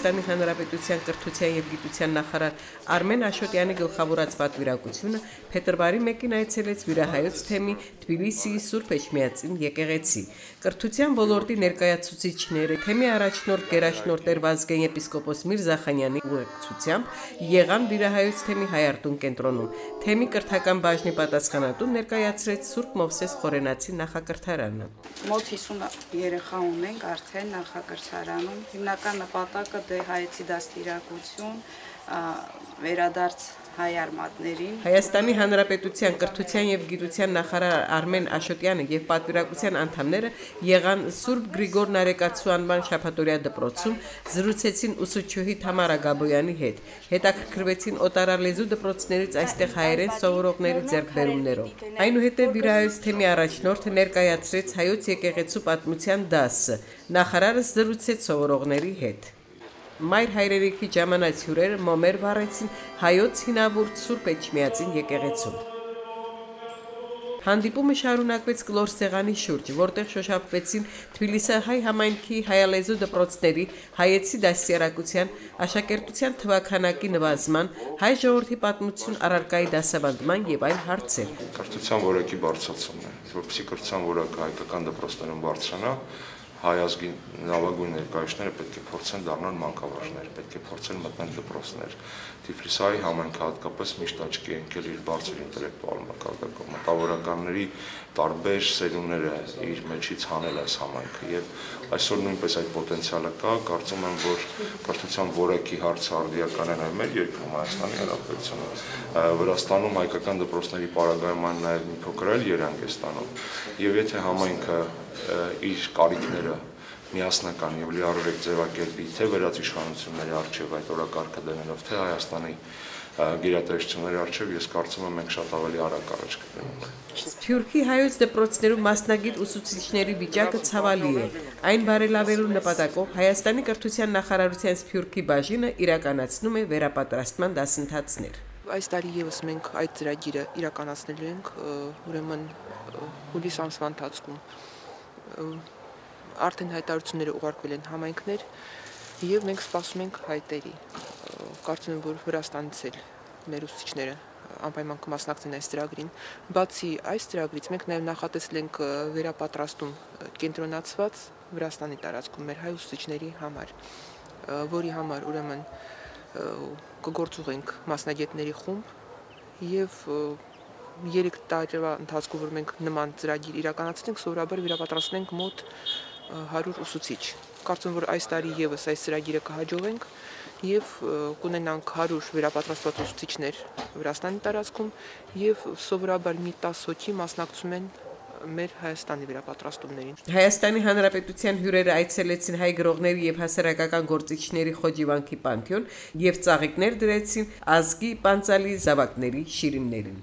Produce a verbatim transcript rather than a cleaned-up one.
Հայաստանի Հանրապետության կրթության և գիտության նախարար Արմեն Աշոտյանի գլխավորած պատվիրակությունը փետրվարի մեկին այցելեց Վիրահայոց թեմի Թբիլիսիի Սուրբ Էջմիածին եկեղեցի։ Կրթության ոլորտի ներկայացուցիչները թեմի առաջնորդ գերաշնորհ Տեր Վազգեն եպիսկոպոս Միրզախանյանի ուղեկցությամբ եղան Վիրահայոց թեմի հայարտուն կենտրոնում։ Թեմի կրթական բաժնի պատասխանատուն ներկայացրեց Սուրբ Մովսես Խորենացի նախակրթարանը։ Մոտ հիսուն երեխա ունենք արդեն նախակրթարանում։ Հիմնական նպատակը դե հայեցի դաստիարակություն, վերադարձ հայ արմատներին։ Հայաստանի Հանրապետության կրթության և գիտության նախարար Արմեն Աշոտյանը և պատվիրակության անդամները եղան Սուրբ Գրիգոր Նարեկացու անվան շաբաթօրյա դպրոցում, զրուցեցին ուսուցչուհի Թամարա Գաբոյանի հետ, հետաքրքրվեցին օտարալեզու դպրոցներից այստեղ հայերեն սովորողների ձեռքբերումներով։ Այնուհետև Վիրահայոց թեմի առաջնորդը ներկայացրեց հայոց եկեղեցու պատմության դասը, նախարարը զրուցեց սովորողների հետ։ Մայր հայրենիքի ժամանած հյուրերը մոմեր վառեցին հայոց հինավուրց Սուրբ Էջմիածին եկեղեցում։ Հանդիպումը շարունակվեց կլոր սեղանի շուրջ, որտեղ շոշափվեցին Թբիլիսիահայ համայնքի հայալեզու դպրոցների հայեցի դաստիարակության, աշակերտության թվաքանակի նվազման, հայ ժողովրդի պատմություն առարկայի դասավանդման եւ այլ հարցեր։ Կրթության որակի բարձրացումն է, որպեսզի կրթության որակը հայկական դպրոցներում բարձրանա, հայ ազգի լավագույն ներկայացուցիչները պետք է փորձեն դառնալ մանկավարժներ, պետք է փորձեն մտնել դպրոցներ։ Թիֆլիսի համայնքը հատկապես միշտ աչքի է ընկել իր բարձր ինտելեկտուալ մակարդակով, մտավորականների տարբեր սերունդները իր մեջից հանել այս համայնքը եւ այսօր նույնպես այդ պոտենցիալը կա, կարծում եմ, որ կրթության որակի հարցը արդիական է նաեւ մեր երկրում Հայաստանի Հանրապետությունում, Վրաստանում հայկական դպրոցների պարագայման նաեւ մի փոքր այլ երանգ է ստանում եւ եթե համայնքը իր կարիքները միասնական եւ լիարժեք ձևակերպի թե վերացիշխանությունների արժեվ այդ օրակարգը դնելով թե Հայաստանի գերատեսչությունների արժեվ ես կարծում եմ մենք շատ ավելի արագ առաջ կգնանք։ Սփյուռքի հայոց դպրոցներում մասնագետ ուսուցիչների վիճակը ցավալի է։ Այն բարելավելու նպատակով Հայաստանի կրթության նախարարության Սփյուռքի բաժինը իրականացնում է վերապատրաստման դասընթացներ։ Այս տարի եւս մենք այդ ծրագիրը իրականացնելու ենք, ուրեմն հուլիս ամսվա ընթացքում արդեն հայտարարությունները ուղարկվել են համայնքներ եւ մենք սպասում ենք հայտերի։ Կարծում եմ, որ Վրաստանից էլ մեր ուսուցիչները անպայման կմասնակցեն այս ծրագրին։ Բացի այս ծրագրից մենք նաեւ նախատեսել ենք վերապատրաստում կենտրոնացված Վրաստանի տարածքում մեր հայ ուսուցիչների համար, որի համար ուրեմն կգործուղենք մասնագետների խումբ եւ երեք տարվա ընթացքում որ մենք նման ծրագիր իրականացնենք, սովորաբար վերապատրաստենք մոտ հարյուր ուսուցիչ։ Կարծում եմ, որ այս տարի եւս այս ծրագիրը կհաջողենք եւ կունենանք հարյուր վերապատրաստված ուսուցիչներ Վրաստանի տարածքում եւ սովորաբար մի տասը հոգի մասնակցում են մեր Հայաստանի վերապատրաստումներին։ Հայաստանի Հանրապետության հյուրերը այցելեցին հայ գրողների եւ հասարակական գործիչների խոջիվանքի պանթեոն եւ ծաղիկներ դրեցին ազգի պանծալի զավակների շիրիմներին։